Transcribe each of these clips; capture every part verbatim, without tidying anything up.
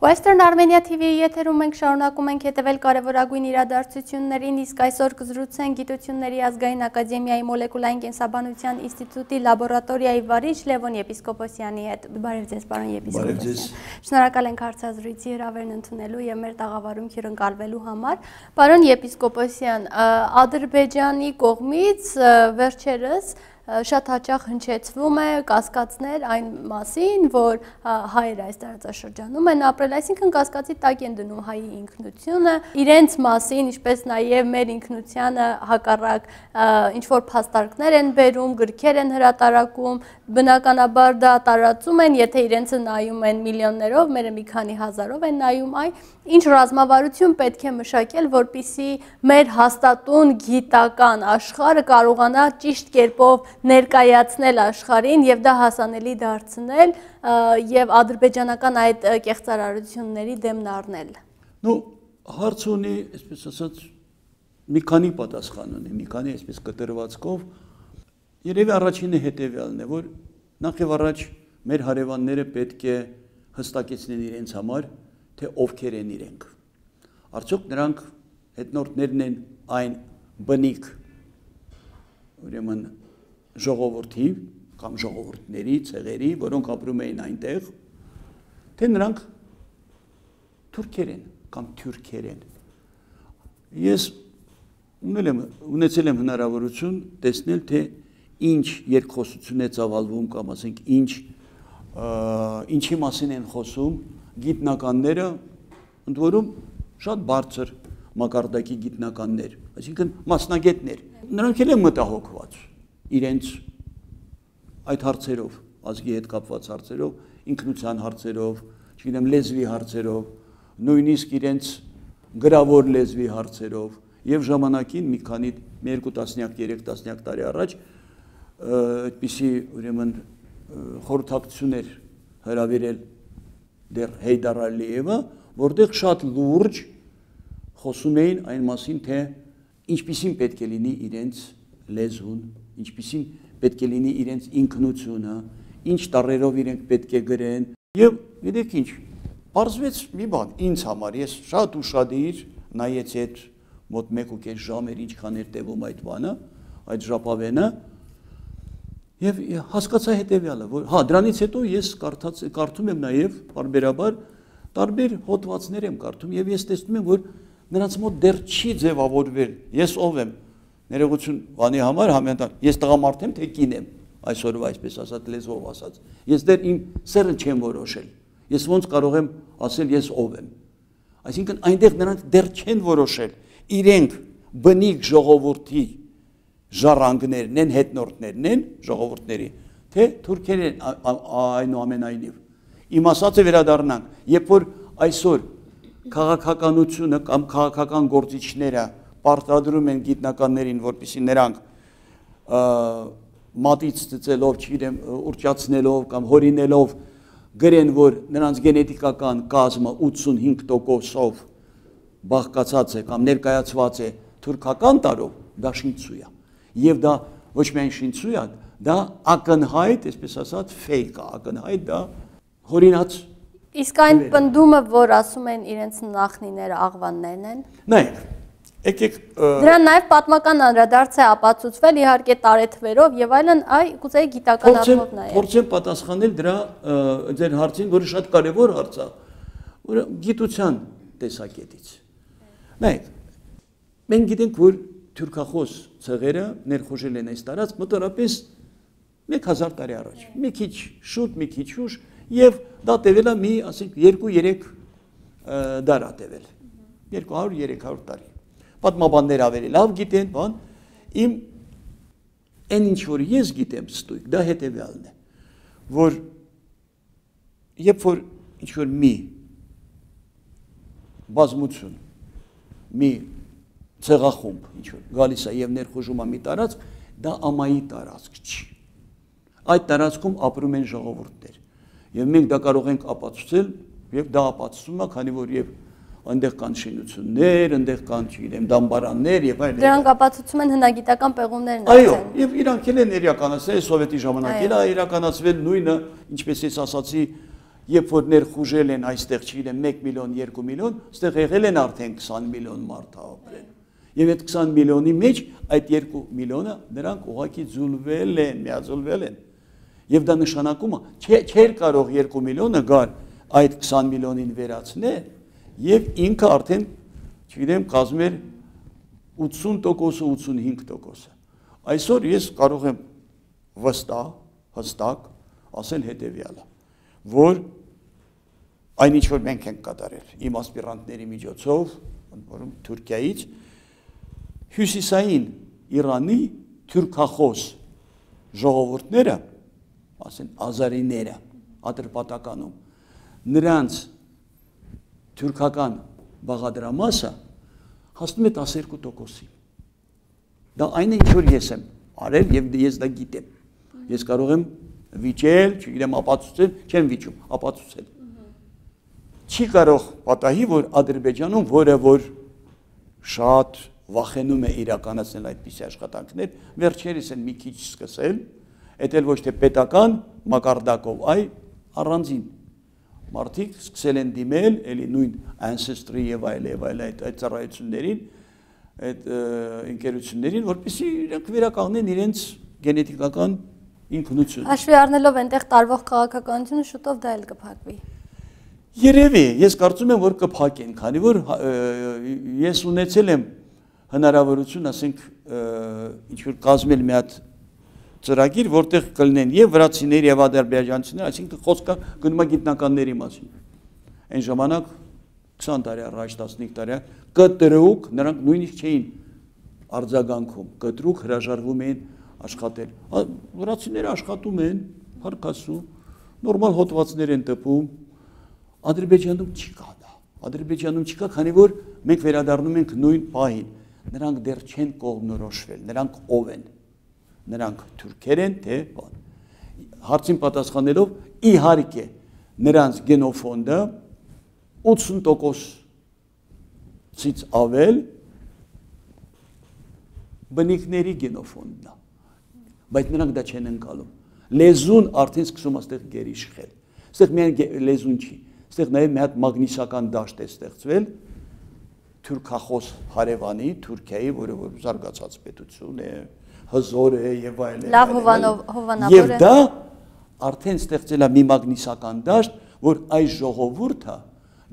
Western Armenia T V-ի եթերում մենք շարունակում ենք հետևել կարևորագույն իրադարձություններին, իսկ այսօր կզրուցենք Գիտությունների ազգային ակադեմիայի մոլեկուլային կենսաբանության ինստիտուտի լաբորատորիայի վարիչ Լևոն Եպիսկոպոսյանի հետ։ Բարև ձեզ, պարոն Եպիսկոպոսյան։ Շնորհակալ ենք հարցազրույցի հրավերն ընդունելու եւ մեր տաղավարում հյուրընկալվելու համար։ Պարոն Եպիսկոպոսյան, Ադրբեջանի կողմից վերջերս շատ հաճախ հնչեցվում է կասկածներ այն մասին, որ հայերը այս տարածաշրջանում են ապրել, այսինքն կասկածի տակ են դնում հայի ինքնությունը, իրենց մասին, ինչպես նաև մեր ինքնությանը հակառակ ինչ-որ փաստարկներ են բերում, գրքեր են հրատարակում, բնականաբար դա տարածում են, եթե իրենցը նայում են միլիոններով, մերը մի քանի հազարով են նայում, այ ինչ ռազմավարություն պետք է մշակել, որպեսզի մեր հաստատուն գիտական աշխարհը կարողանա ճիշտ կերպով ներկայացնել աշխարհին եւ դա հասանելի դարձնել եւ ադրբեջանական այդ կեղծարարությունների դեմն առնել։ Ну, հարց ունի, այսպես ասած, մի քանի պատասխան ունի, մի քանի այսպես կտրվածքով։ Երևի առաջինը հետեւյալն է, որ նախ եւ առաջ մեր հարևանները պետք է հստակեցնեն իրենց համար, թե ովքեր են իրենք։ Արդյոք նրանք հետնորդներն են այն բնիկ, ուրեմն ժողովրդի կամ ժողովուրդների, ցեղերի, որոնք ապրում էին այնտեղ, թե նրանք թուրքեր են կամ թյուրքեր են։ Ես ունել եմ, ունեցել եմ հնարավորություն տեսնել, թե ինչ երկխոսություն է ծավալվում կամ ասենք ինչ ինչի մասին են խոսում գիտնականները, ընդ որում շատ բարձր մակարդակի գիտնականներ, այսինքն մասնագետներ։ Նրանք էլ են մտահոգված իրենց այդ հարցերով, ազգի հետ կապված հարցերով, ինքնության հարցերով, չգիտեմ, լեզվի հարցերով, նույնիսկ իրենց գրավոր լեզվի հարցերով, եւ ժամանակին մի քանի երկու տասնյակ, երեք տասնյակ տարի առաջ այդպիսի ուրեմն խորհրդակցություններ հրավիրել դեռ Հեյդար Ալիևը, որտեղ շատ լուրջ խոսում էին այն մասին, թե ինչպիսին պետք է լինի իրենց լեզուն, ինչպիսին պետք է լինի իրենց ինքնությունը, ինչ տառերով իրենք պետք է գրեն։ Եվ գիտեք ինչ, պարզվեց մի բան, ինձ համար, ես շատ ուշադիր նայեցի այդ մոտ մեկ ու կես ժամ էր ինչքան էր տևում այդ բանը, այդ ժապավենը, եւ հասկացա հետեւյալը, որ հա դրանից հետո ես կարդաց կարդում եմ նաեւ բարբերաբար տարբեր հոդվածներ եմ կարդում եւ ես տեսնում եմ, որ նրանց մոտ դեռ չի ձևավորվել ես ով եմ, ներողություն բանի համար համենտան, ես տղամարդ եմ թե կին եմ, այսօրվա այսպես ասած լեզվով ասած, ես դեռ իմ սերը չեմ որոշել, ես ոնց կարող եմ ասել ես ով եմ, այսինքն այնտեղ նրանք դեռ չեն որոշել իրենք բնիկ ժողովրդի ժառանգներն են, հետնորդներն են ժողովուրդների, թե թուրքեր են այնուամենայնիվ։ Իմ ասածը վերադառնանք, երբ որ այսօր քաղաքականությունը կամ քաղաքական գործիչները պարտադրում են գիտնականներին, որպեսզի նրանք մատից ծծելով, չգիտեմ, ուրճացնելով կամ հորինելով գրեն, որ նրանց գենետիկական կազմը ութսունհինգ տոկոսով բաղկացած է կամ ներկայացված է թուրքական տարով, դա շինծու է։ Եվ դա ոչ միայն շինծու է, դա ակնհայտ, այսպես ասած, ֆեյք է, ակնհայտ դա հորինած։ Իսկ այն պնդումը, որ ասում են իրենց նախնիները աղվաններն են։ Նայեք, եկեք դրան նաև պատմական անդրադարձ է ապացուցվել, իհարկե տարեթվերով եւ այլն, այ կուզեի գիտական առումով նայել։ Փորձեմ պատասխանել դրա ձեր հարցին, որը շատ կարևոր հարց է, որը գիտության տեսակետից։ Նայեք, մենք գիտենք, որ թուրքախոս ցեղերը ներխուժել են այս տարած մոտավորապես մեկ հազար տարի առաջ, մի քիչ շուտ, մի քիչ ուշ, եւ դա տևել է մի, ասենք, երկու-երեք դար է տևել, երկու հարյուր երեք հարյուր տարի։ Պատմաբանները ավելի լավ գիտեն, բան, իմ այն ինչ որ ես գիտեմ ստույգ, դա հետեւյալն է, որ երբ որ ինչ որ մի բազմություն, մի ցեղախումբ, ինչ որ գալիս է եւ ներխուժում է մի տարածք, դա ամայի տարածք չի։ Այդ տարածքում ապրում են ժողովուրդներ։ Եվ մենք դա կարող ենք ապացուցել, եւ դա ապացուցում է, քանի որ եւ այնտեղ կան շինություններ, այնտեղ կան, չգիտեմ, դամբարաններ եւ այլն։ Դրանք ապացուցում են հնագիտական պեղումներն են։ Այո, եւ իրանք էլ են իրականացել սովետի ժամանակ, էլ է իրականացվել նույնը, ինչպես ես ասացի, երբ որ ներխուժել են այստեղ չգիտեմ մեկ միլիոն, երկու միլիոն, այստեղ եղել են արդեն քսան միլիոն մարդ ապրել։ Եվ այդ քսան միլիոնի մեջ այդ երկու միլիոնը նրանք ուղղակի ձուլվել են, միաձուլվել են։ Եվ դա նշանակում է, չէր կարող երկու միլիոնը գալ այդ քսան միլիոնին վերացնել, եւ ինքը արդեն, չգիտեմ, կազմում էր ութսուն տոկոսը, ութսունհինգ տոկոսը։ Այսօր ես կարող եմ վստահ, հստակ ասել հետևյալը, որ այն ինչ որ մենք ենք կատարել իմ ասպիրանտների միջոցով, որում Թուրքիայից հյուսիսային Իրանի թուրքախոս ժողովուրդները, ասեն ազարիները, Ատրպատականում, նրանց թուրքական բաղադրամասը հասնում է տասներկու տոկոսի։ Դա այն է, ինչ որ ես եմ արել եւ ես դա գիտեմ։ Ես կարող եմ վիճել, չգիտեմ, ապացուցել, չեմ վիճում, ապացուցել։ Չի կարող պատահի, որ Ադրբեջանում, որը որ շատ վախենում է իրականացնել այդպիսի աշխատանքներ, վերջերս են մի քիչ սկսել, այդ էլ ոչ թե պետական մակարդակով, այլ առանձին մարդիկ սկսել են դիմել, էլի նույն Ancestry եւ այլ եւ այլ այդ ծառայություններին, այդ ընկերություններին, որպեսզի իրենք վերականգնեն իրենց գենետիկական ինքնությունը։ Հաշվի առնելով այնտեղ տարվող քաղաքականությունը շուտով դա էլ կփակվի։ Երևի, ես կարծում եմ, որ կփակեն, քանի որ ես ունեցել եմ հնարավորություն, ասենք, ինչ որ կազմել մի հատ ծրագիր, որտեղ կլինեն եւ վրացիներ եւ ադրբեջանցիներ, այսինքն խոսքը գնում է գիտնականների մասին։ Այն ժամանակ քսան տարի առաջ, տասնհինգ տարի կտրուկ, նրանք նույնիսկ չէին արձագանքում, կտրուկ հրաժարվում էին աշխատել։ Վրացիները աշխատում են, փառքասու, նորմալ հոդվածներ են տպում։ Ադրբեջանում չկա դա։ Ադրբեջանում չկա, քանի որ մենք վերադառնում ենք նույն պահին։ Նրանք դեռ չեն կողմնորոշվել, նրանք ով են։ Նրանք թուրքեր են, թե բան։ Հարցին պատասխանելով, իհարկե, նրանց գենոֆոնդը ութսուն տոկոսից ավել բնիկների գենոֆոնդն է։ Բայց նրանք դա չեն ընկալում։ Լեզուն արդեն սկսում է այստեղ գերիշխել։ Այստեղ միայն լեզուն չի, այստեղ նաև մի հատ մագնիսական դաշտ է ստեղծվել թուրքախոս հարևանի, Թուրքիայի, որը որ զարգացած պետություն է, հզոր է եւ այլն։ Լավ հովանավոր է։ Եվ դա արդեն ստեղծել է մի մագնիսական դաշտ, որ այս ժողովուրդը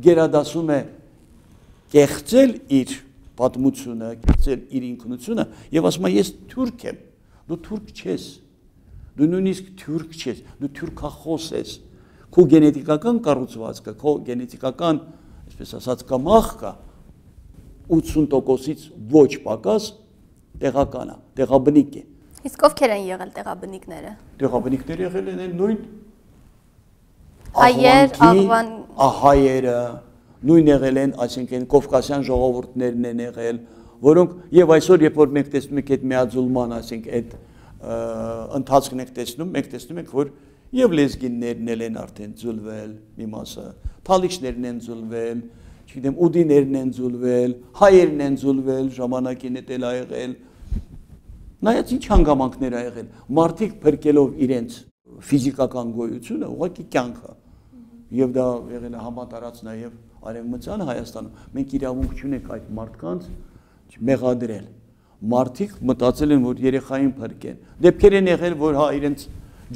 գերադասում է կեղծել իր պատմությունը, կեղծել իր ինքնությունը եւ ասում է ես թուրք եմ։ Դու թուրք չես, դու նույնիսկ թուրք չես, դու թուրքախոս ես, քո գենետիկական կառուցվածքը, քո գենետիկական, այսպես ասած, կամախքը ութսուն տոկոսից ոչ պակաս տեղական է, տեղաբնիկ է։ Իսկ ովքեր են եղել տեղաբնիկները։ Տեղաբնիկները եղել են նույն հայեր, աղվան, հայերը, նույն եղել են, այսինքն կովկասյան ժողովուրդներն են եղել, որոնք եւ այսօր երբ որ մենք տեսնում ենք այդ միաձուլման, ասենք այդ ընթացքն ենք տեսնում, մենք տեսնում ենք, որ եւ լեզգիններն են արդեն ձուլվել, մի մասը, թալիչներն են ձուլվել, չգիտեմ, ուդիներն են ձուլվել, հայերն են ձուլվել, ժամանակին է տել ա եղել։ Նայած ինչ հանգամանքներ ա եղել, մարդիկ փրկելով իրենց ֆիզիկական գոյությունը, ուղղակի կյանքը։ Եվ դա եղել է համատարած նաեւ Արևմտյան Հայաստանում։ Մենք իրավունք չունենք այդ մարդկանց մեղադրել։ Մարդիկ մտածել են, որ երեխային փրկեն։ Դեպքեր են եղել, որ հա իրենց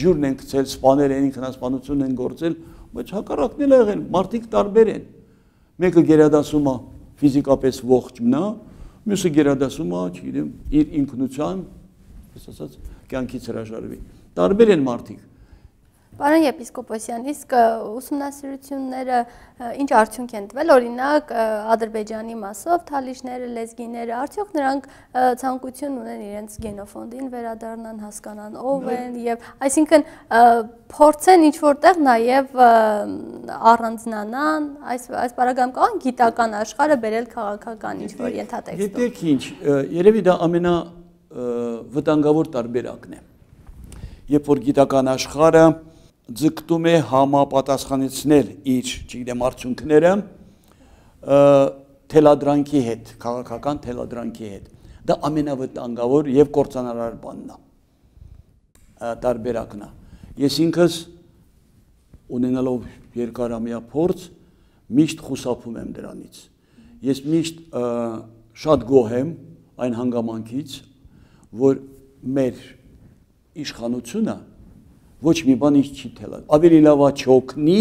ջուրն են գցել, սպանել են, ինքնասպանություն են գործել, բայց հակառակն էլ եղել, մարդիկ տարբեր են։ Մեկը գերադասում է ֆիզիկապես ողջ մնա, մյուսը գերադասում է, չգիտեմ, իր ինքնության, ասած, կյանքից հրաժարվի։ Տարբեր են մարդիկ։ Պարոն եպիսկոպոսյան, իսկ ուսումնասիրությունները ինչ արդյունք են տվել, օրինակ Ադրբեջանի մասով թալիշները, լեզգիները, արդյոք նրանք ցանկություն ունեն իրենց գենոֆոնդին վերադառնան, հասկանան ով են եւ այսինքն փորձեն ինչ որտեղ նաեւ առանձնանան, այս այս բaragam գիտական աշխարհը բերել քաղաքական ինչ որ ենթատեքստով։ Գիտեք ինչ, երևի դա ամենա վտանգավոր տարբերակն է։ Երբ որ գիտական աշխարհը ձգտում է համապատասխանեցնել իր, չգիտեմ, արդյունքները թելադրանքի հետ, քաղաքական թելադրանքի հետ։ Դա ամենավտանգավոր եւ կործանարար բանն է։ Տարբերակն է։ Ես ինքս ունենալով երկարամյա փորձ միշտ խուսափում եմ դրանից։ Ես միշտ շատ գոհ եմ այն հանգամանքից, որ մեր իշխանությունը ոչ մի բան ինչ չի թելադրի։ Ավելի լավ է չօգնի,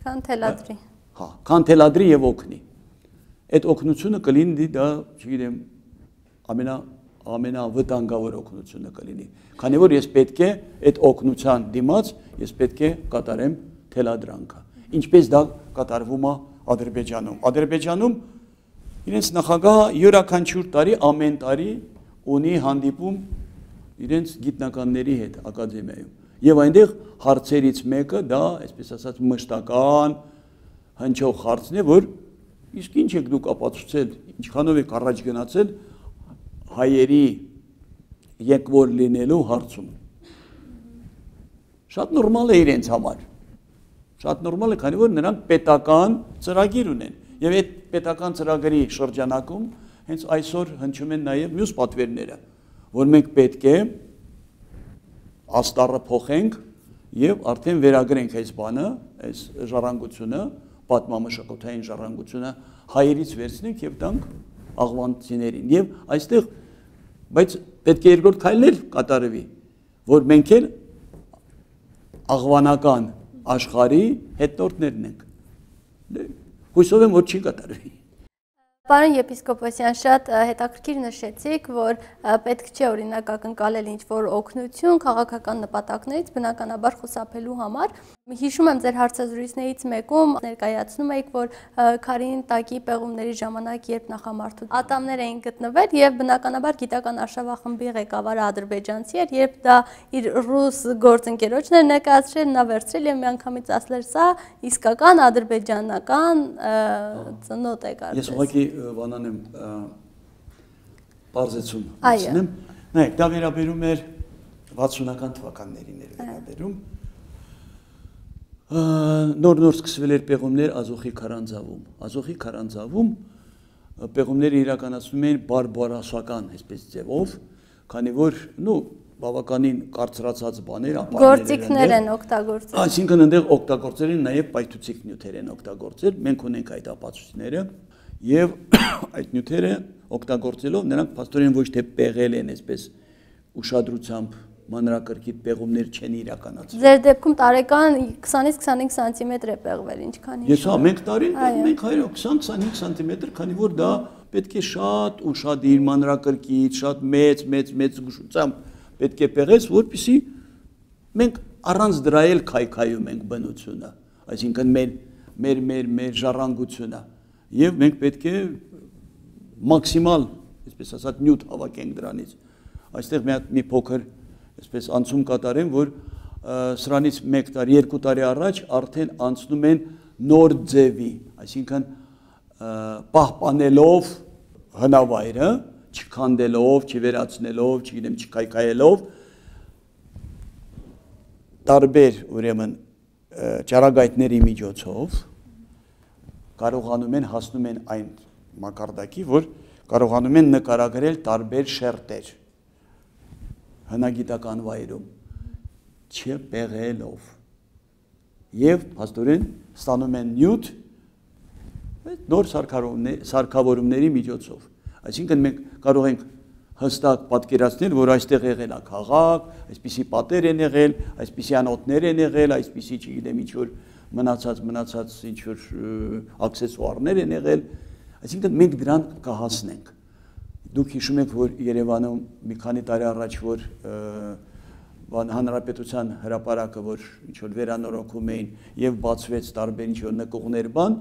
քան թելադրի։ Հա, քան թելադրի եւ օգնի։ Այդ օգնությունը կլինի դա, չգիտեմ, ամենա ամենավտանգավոր օգնությունը կլինի։ Քանի որ ես պետք է այդ օգնության դիմաց ես պետք է կատարեմ թելադրանքը։ Ինչպես դա կատարվում է Ադրբեջանում։ Ադրբեջանում իրենց նախագահը յուրաքանչյուր տարի ամեն տարի ունի հանդիպում իրենց գիտնականների հետ ակադեմիայում։ Եվ այնտեղ հարցերից մեկը դա, այսպես ասած, մշտական հնչող հարցն է, որ իսկ ինչ եք դուք ապացուցել, ինչքանով եք առաջ գնացել հայերի եկվոր լինելու հարցում։ Շատ նորմալ է իրենց համար։ Շատ նորմալ է, քանի որ նրանք պետական ծրագիր ունեն։ Եվ այդ պետական ծրագրի շրջանակում հենց այսօր հնչում են նաև մյուս պատվերները, որ մենք պետք է աստառը փոխենք եւ արդեն վերագրենք այս բանը, այս ժառանգությունը, պատմամշակութային ժառանգությունը հայերից վերցնենք եւ տանք աղվանցիներին։ Եվ այստեղ բայց պետք է երկրորդ քայլներ կատարվի, որ մենք էլ աղվանական աշխարհի հետնորդներն ենք։ Հույսով եմ, որ չի կատարվի։ Պարոն եպիսկոպոսյան, շատ հետաքրքիր նշեցիք, որ պետք չէ օրինակ ակնկալել ինչ-որ օգնություն քաղաքական նպատակներից բնականաբար խուսափելու համար։ Հիշում եմ ձեր հարցազրույցներից մեկում ներկայացնում էիք, որ Քարին տակի պեղումների ժամանակ, երբ նախամարդու ատամներ էին գտնվել եւ բնականաբար գիտական արշավախմբի ղեկավարը ադրբեջանցի էր, երբ դա իր ռուս գործընկերոջն էր ներկայացրել, նա վերցրել եւ միանգամից ասել սա իսկական ադրբեջանական ծնոտ է կարծես։ Ես ուղղակի բանանեմ բարձեցում ասնեմ։ Նայեք, դա վերաբերում էր վաթսունական թվականներին էր վերաբերում։ Նոր-նոր սկսվել էր պեղումներ Ազոխի քարանձավում։ Ազոխի քարանձավում պեղումները իրականացվում էին բարբարոսական, այսպես ձևով, քանի որ, նու, բավականին կարծրացած բաներ, գործիքներ են օգտագործել։ Այսինքն այնտեղ օգտագործել են նաև պայթուցիկ նյութեր են օգտագործել, մենք ունենք այդ ապացույցները, եւ այդ նյութերը օգտագործելով նրանք փաստորեն ոչ թե պեղել են, այսպես ուշադրությամբ մանրակրկիտ պեղումներ չեն իրականացրել։ Ձեր դեպքում տարեկան քսանից քսանհինգ սանտիմետր է պեղվել, ինչքան Ես հա, մենք տարին մենք քսան քսանհինգ սանտիմետր, քանի որ դա պետք է շատ ուշադիր մանրակրկիտ, շատ մեծ, մեծ, մեծ զգուշությամբ պետք է պեղես, որպեսզի մենք առանց դրա էլ քայքայում ենք բնությունը, այսինքն մեր մեր մեր մեր ժառանգությունը, եւ մենք պետք է մաքսիմալ, այսպես ասած, նյութ հավաքենք դրանից։ Այստեղ մի հատ մի փոքր այսպես անցում կատարեմ, որ սրանից մեկ տարի, երկու տարի առաջ արդեն անցնում են նոր ձևի, այսինքն պահպանելով հնավայրը, չքանդելով, չվերացնելով, չգիտեմ, չքայքայելով, տարբեր ուրեմն ճառագայթների միջոցով կարողանում են հասնում են այն մակարդակի, որ կարողանում են նկարագրել տարբեր շերտեր հնագիտական վայրում չպեղելով եւ փաստորեն ստանում են նյութ նոր սարքավորումների միջոցով, այսինքն մենք կարող ենք հստակ պատկերացնել, որ այստեղ եղել է քաղաք, այսպիսի պատեր են եղել, այսպիսի անոթներ են եղել, այսպիսի չգիտեմ ինչ որ մնացած մնացած ինչ որ աքսեսուարներ են եղել, այսինքն մենք դրան կհասնենք։ Դուք հիշում եք, որ Երևանում մի քանի տարի առաջ որ հանրապետության հրապարակը որ ինչ որ վերանորոգում էին եւ բացվեց տարբեր ինչ որ նկուղներ բան,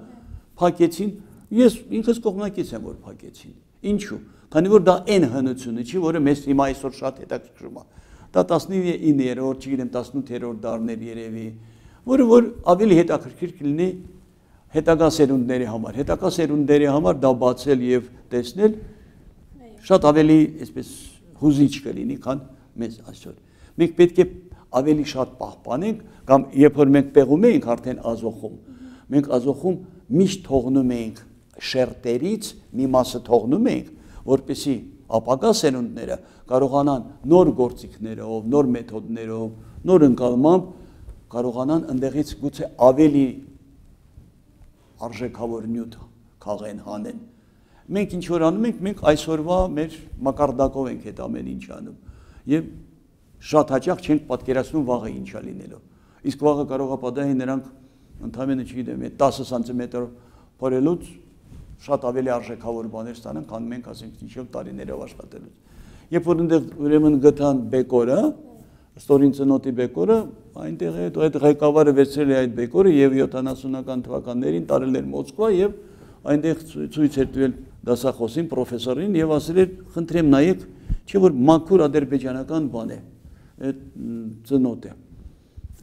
փակեցին, ես ինքս կողմնակից եմ որ փակեցին։ Ինչու՞։ Քանի որ դա այն հնությունը չի, որը մեզ հիմա այսօր շատ հետաքրքրում է։ Դա տասնիններորդ, չգիտեմ, տասնութերորդ դարներ երևի, որը որ ավելի հետաքրքիր կլինի հետագա սերունդների համար։ Հետագա սերունդների համար դա բացել եւ տեսնել շատ ավելի այսպես հուզիչ կլինի, քան մեզ այսօր։ Մենք պետք է ավելի շատ պահպանենք, կամ երբ որ մենք պեղում էինք արդեն Ազոխում, մենք Ազոխում միշտ թողնում էինք շերտերից մի մասը թողնում էինք, որպեսզի ապագա սերունդները կարողանան նոր գործիքներով, նոր մեթոդներով, նոր ընկալմամբ կարողանան ընդեղից գուցե ավելի արժեքավոր նյութ քաղեն, հանեն։ Մենք ինչ որ անում ենք, մենք այսօրվա մեր մակարդակով ենք այդ ամեն ինչ անում։ Եվ շատ հաճախ չենք պատկերացնում վաղը ինչա լինելով։ Իսկ վաղը կարող է պատահի նրանք ընդհանրապես չգիտեմ, տասը սանտիմետր փորելուց շատ ավելի արժեքավոր բաներ ստանան, քան մենք ասենք ինչ-որ տարիներով աշխատելուց։ Երբ որ այնտեղ ուրեմն գտան բեկորը, ստորին ծնոտի բեկորը, այնտեղ այդ ղեկավարը վերցրել է այդ բեկորը եւ յոթանասունական թվականներին տարել էր Մոսկվա եւ այնտեղ ցույց էր տվել դասախոսին, պրոֆեսորին եւ ասել էր, խնդրեմ նայեք, չէ՞ որ մաքուր ադրբեջանական բան է, այդ ծնոտը։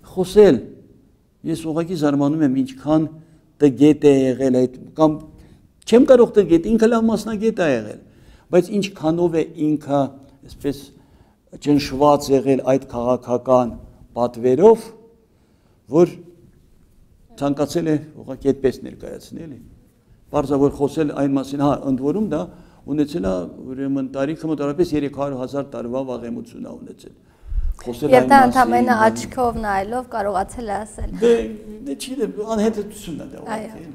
Խոսել, ես ուղղակի զարմանում եմ ինչքան տգետ է եղել այդ կամ չեմ կարող տգետ, ինքը լավ մասնագետ է եղել, բայց ինչքանով է ինքը այսպես ճնշված եղել այդ քաղաքական պատվերով, որ ցանկացել է ուղղակի այդպես ներկայացնել, բարձրավոր խոսել այն մասին, հա, ընդ որում դա ունեցել է ուրեմն տարիքը մոտավորապես երեք հարյուր հազար տարվա վաղեմություն է ունեցել։ Եվ դա ընդամենը աչքով նայելով կարողացել է ասել։ Դե դե չի, անհետացությունն է դա ուղղակի։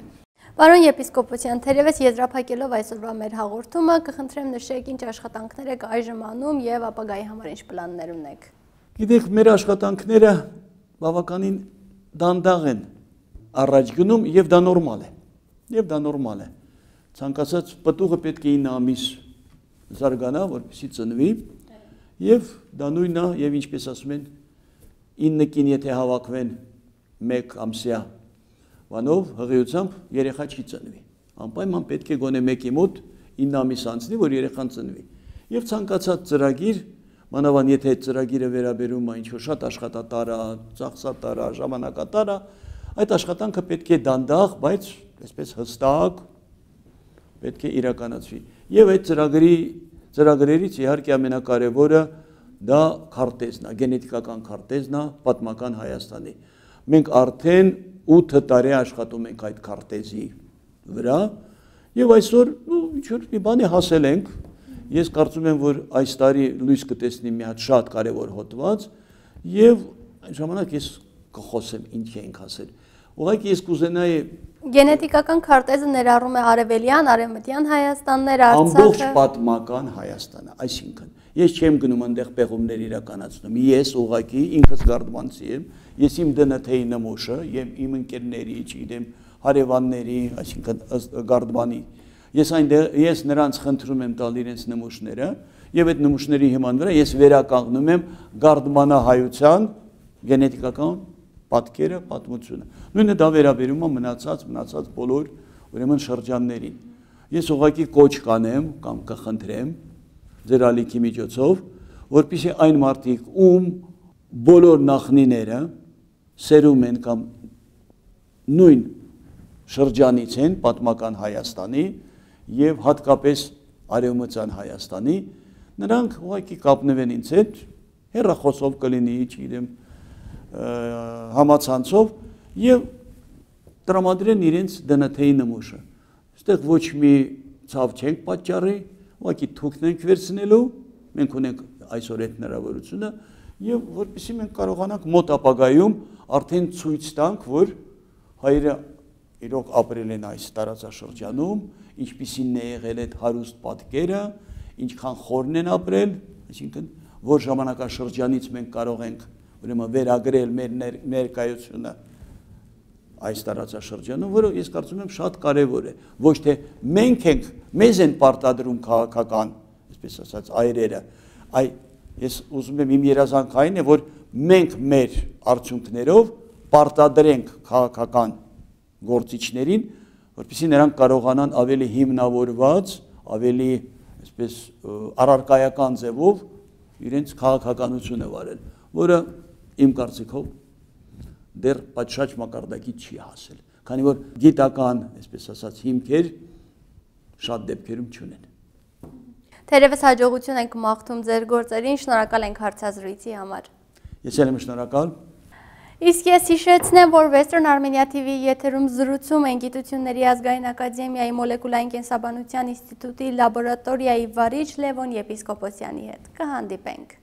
Պարոն եպիսկոպոսյան, թերևս եզրափակելով այսօրվա մեր հաղորդումը, կխնդրեմ նշեք ինչ աշխատանքներ եք այժմ անում եւ ապագայի համար ինչ պլաններ ունեք։ Գիտեք, մեր աշխատանքները բավականին դանդաղ են առաջ գնում եւ դա նորմալ է։ Եվ դա նորմալ է։ Ցանկացած պտուղը պետք է ինը ամիս զարգանա, որպեսզի ծնվի, եւ դա նույնն է, եւ ինչպես ասում են, ինը կին եթե հավաքվեն մեկ ամսյա բանով, հղիությամբ երեխա չի ծնվի։ Անպայման պետք է գոնե մեկի մոտ ինը ամիս անցնի, որ երեխան ծնվի։ Եվ ցանկացած ծրագիր, մանավանդ եթե այդ ծրագիրը վերաբերում է ինչ-որ շատ աշխատատար է, ծախսատար է, ժամանակատար է, այդ աշխատանքը պետք է դանդաղ, բայց այսպես հստակ պետք է իրականացվի։ Եվ այդ ծրագրի ծրագրերից իհարկե ամենակարևորը դա քարտեզն է, գենետիկական քարտեզն է պատմական Հայաստանի։ Մենք արդեն ութ տարի աշխատում ենք այդ քարտեզի վրա եւ այսօր ինչ-որ մի բանի հասել ենք։ Ես կարծում եմ, որ այս տարի լույս կտեսնի մի հատ շատ կարևոր հոդված եւ այն ժամանակ ես կխոսեմ ինչ ենք հասել։ Ուղղակի ես կուզենայի Գենետիկական քարտեզը ներառում է արևելյան, արևմտյան Հայաստաններ, Արցախը։ Ամբողջ պատմական Հայաստանը, այսինքն ես չեմ գնում այնտեղ պեղումներ իրականացնում։ Ես ուղղակի ինքս գարդմանցի եմ, ես իմ դը ըն թեյ նմուշը եւ իմ ընկերների, չգիտեմ, հարևանների, այսինքն գարդմանի։ Ես այնտեղ ես նրանց խնդրում եմ տալ իրենց նմուշները եւ այդ նմուշների հիման վրա ես վերականգնում եմ գարդմանահայության գենետիկական պատկերը, պատմությունը։ Նույնը դա վերաբերում է մնացած, մնացած բոլոր ուրեմն շրջաններին։ Ես ուղղակի կոչ կանեմ կամ կխնդրեմ ձեր ալիքի միջոցով, որպեսզի այն մարդիկ, ում բոլոր նախնիները սերում են կամ նույն շրջանից են պատմական Հայաստանի եւ հատկապես արևմտյան Հայաստանի, նրանք ուղղակի կապնվեն ինձ հետ, հեռախոսով կլինի, չգիտեմ, համացանցով եւ տրամադրեն իրենց դնաթեյի նմուշը։ Այստեղ ոչ մի ցավ չենք պատճառի, ուղղակի թուքն ենք վերցնելու, մենք ունենք այսօր այդ հնարավորությունը եւ որպեսզի մենք կարողանանք մոտ ապագայում արդեն ցույց տանք, որ հայերը իրոք ապրել են այս տարածաշրջանում, ինչպիսին է եղել այդ հարուստ պատկերը, ինչքան խորն են ապրել, այսինքն որ ժամանակաշրջանից մենք կարող ենք ուրեմն վերագրել մեր ներկայությունը այս տարածաշրջանում, որը ես կարծում եմ շատ կարևոր է, ոչ թե մենք ենք, մեզ են պարտադրում քաղաքական, այսպես ասած, այրերը, այ ես ուզում եմ իմ երազանքային է, որ մենք մեր արդյունքներով պարտադրենք քաղաքական գործիչներին, որպեսզի նրանք կարողանան ավելի հիմնավորված, ավելի այսպես առարկայական ձևով իրենց քաղաքականությունը վարել, որը իմ կարծիքով դեռ պատշաճ մակարդակի չի հասել, քանի որ գիտական, այսպես ասած, հիմքեր շատ դեպքերում չունեն։ Թերևս հաջողություն ենք մաղթում ձեր գործերին, շնորհակալ ենք հարցազրույցի համար։ Ես էլ եմ շնորհակալ։ Իսկ ես հիշեցնեմ, որ Western Armenia T V-ի եթերում զրուցում են Գիտությունների ազգային ակադեմիայի մոլեկուլային կենսաբանության ինստիտուտի լաբորատորիայի վարիչ Լևոն Եպիսկոպոսյանի հետ։ Կհանդիպենք։